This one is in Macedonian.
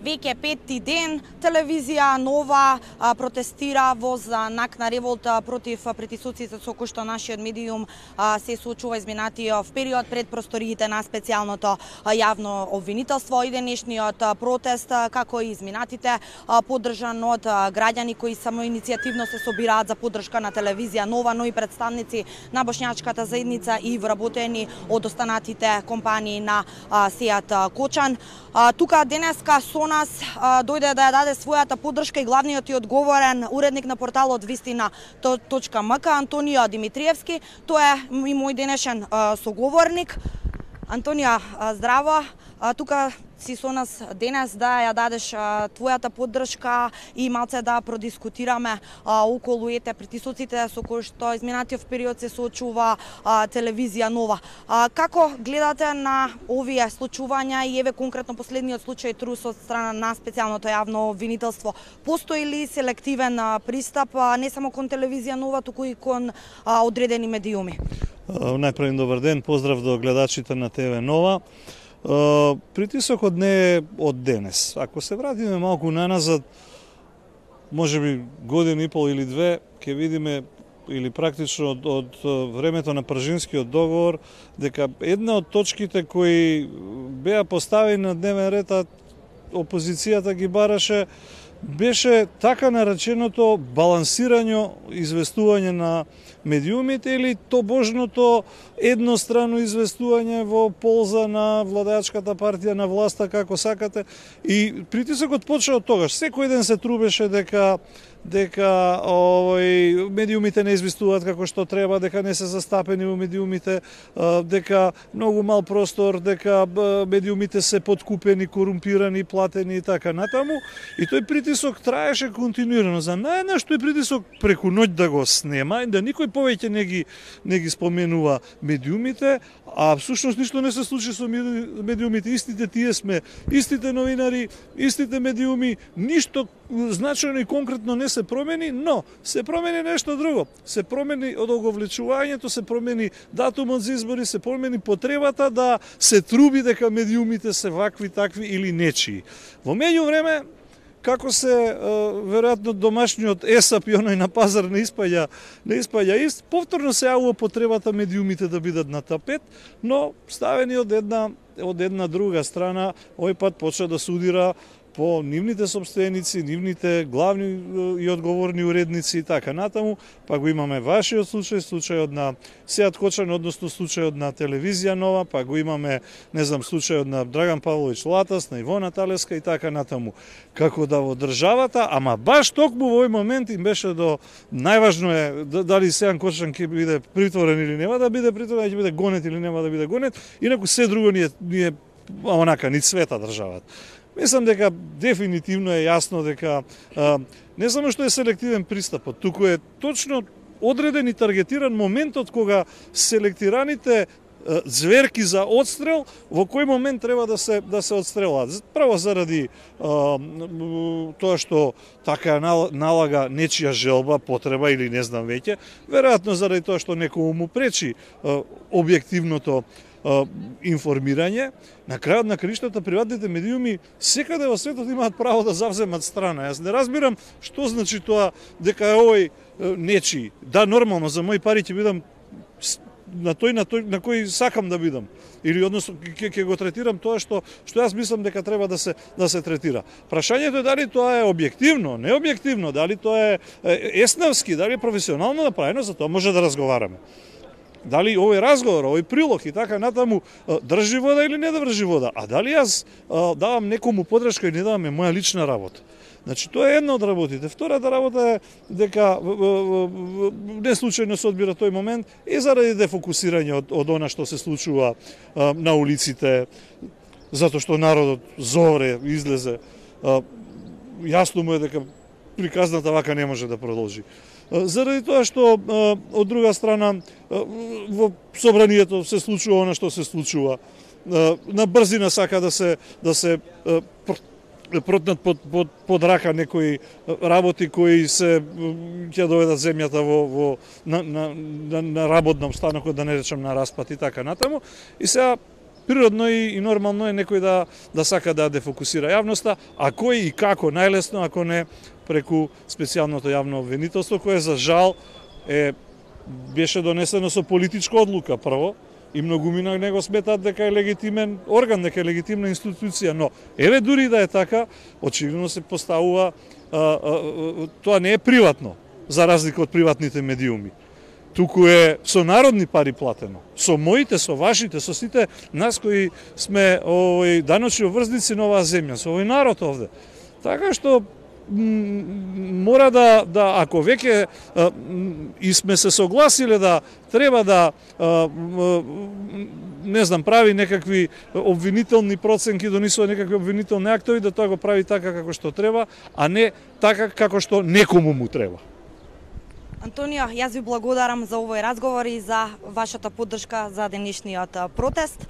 веќе петти ден телевизија Нова протестира во знак на револта против притисоците со кои што нашиот медиум се соочува изминатиот период пред просториите на специјалното јавно обвинителство. И денешниот протест, како и изминатите, поддржан од граѓани кои самоиницијативно се собираат за поддршка на телевизија Нова, но и представници на бошњачката заедница и вработени од останатите компании на Сеат Кочан. Тука денеска со нас дојде да ја даде својата поддршка и главниот и одговорен уредник на порталот Вистина.мк Антонио Димитриевски. Тој е и мој денешен соговорник. Антонио, здраво. Тука си со нас денес да ја дадеш твојата поддршка и малце да продискутираме околу притисоците со кои што изминатиот период се соочува телевизија Нова. Како гледате на овие случувања и еве конкретно последниот случај трус од страна на специјалното јавно обвинителство? Постои ли селективен пристап не само кон телевизија Нова, туку и кон одредени медиуми? Најпрво добар ден, поздрав до гледачите на ТВ Нова. Притисокот не е од денес. Ако се вратиме малку наназад, можеби година и пол или две, ќе видиме или практично од времето на Пржинскиот договор, дека една од точките кои беа поставени на дневен ред, а опозицијата ги бараше, беше така нареченото балансирање известување на медиумите или тобожното еднострано известување во полза на владеачката партија, на власта, како сакате. И притисокот почна од тогаш. Секој ден се трубеше дека медиумите не известуваат како што треба, дека не се застапени во медиумите, дека многу мал простор, дека медиумите се подкупени, корумпирани, платени и така натаму. И тој притисок траеше континуирано. За најнаш тој притисок преку ноќ да го снема и да никој повеќе не ги споменува медиумите, а всушност ништо не се случи со медиумите. Истите тие сме, истите новинари, истите медиуми, ништо значајно и конкретно не се промени, но се промени нешто друго. Се промени одоговлечувањето, се промени датумот за избори, се промени потребата да се труби дека медиумите се вакви, такви или нечии. Во меѓувреме, како се веројатно домашниот есап и оној на пазар не испаѓа ист, повторно се јавува потребата медиумите да бидат на тапет, но ставени од една друга страна, овој пат почна да судира по нивните собственици, нивните главни и одговорни уредници и така натаму, па го имаме вашиот случај, случајот на Сеат Кочан, односно случајот на телевизија Нова, па го имаме, не знам, случајот на Драган Павлович Латас, на Ивона Талеска и така натаму. Како да во државата, ама баш токму во овој момент им беше до најважно е дали Сеат Кочан ќе биде притворен или нема да биде притворен, ќе биде гонет или нема да биде гонет, инаку се друго ни е онака, ни цвета државата. Мислам дека дефинитивно е јасно дека не само што е селективен пристапот, туку е точно одреден и таргетиран моментот кога селектираните зверки за одстрел во кој момент треба да се одстрелат. Прво заради тоа што така налага нечија желба, потреба или не знам веќе, веројатно заради тоа што некому му пречи објективното информирање. На крајот на краиштата приватните медиуми секаде во светот имаат право да завземат страна. Јас не разбирам што значи тоа дека е овој нечи. Да, нормално, за мои пари ќе бидам на кој сакам да бидам. Или односно ќе го третирам тоа што јас мислам дека треба да се третира. Прашањето е дали тоа е објективно, не објективно, дали тоа е еснавски, дали е професионално направено, за тоа може да разговараме. Дали овој разговор, овој прилог и така натаму држи вода или не држи вода, а дали јас давам некому подршка или не давам е моја лична работа. Значи, тоа е една од работите. Втората работа е дека не случајно се одбира тој момент и заради дефокусирање од она што се случува на улиците, затоа што народот зоре, излезе. Јасно му е дека приказната вака не може да продолжи. Заради тоа што, од друга страна, во собранието се случува она што се случува. На брзина сака да се протнат под рака некои работи кои ќе доведат земјата на работном станокот, да не речем на распад и така натаму. И сега природно и нормално е некој да сака да дефокусира јавноста, а кој и како најлесно ако не преку специјалното јавно обвинителство, кое за жал беше донесено со политичка одлука прво, и многумина не го сметаат дека е легитимен орган, дека е легитимна институција, но еве дури да е така, очигледно се поставува тоа не е приватно, за разлика од приватните медиуми. Туку е со народни пари платено, со моите, со вашите, со сите нас кои сме даночни обврзници на оваа земја, со овој народ овде. Така што мора да ако веќе и сме се согласиле да треба да не знам, прави некакви обвинителни проценки, донесува некакви обвинителни актови, да тоа го прави така како што треба, а не така како што некому му треба. Антонио, јас ви благодарам за овој разговор и за вашата поддршка за денешниот протест.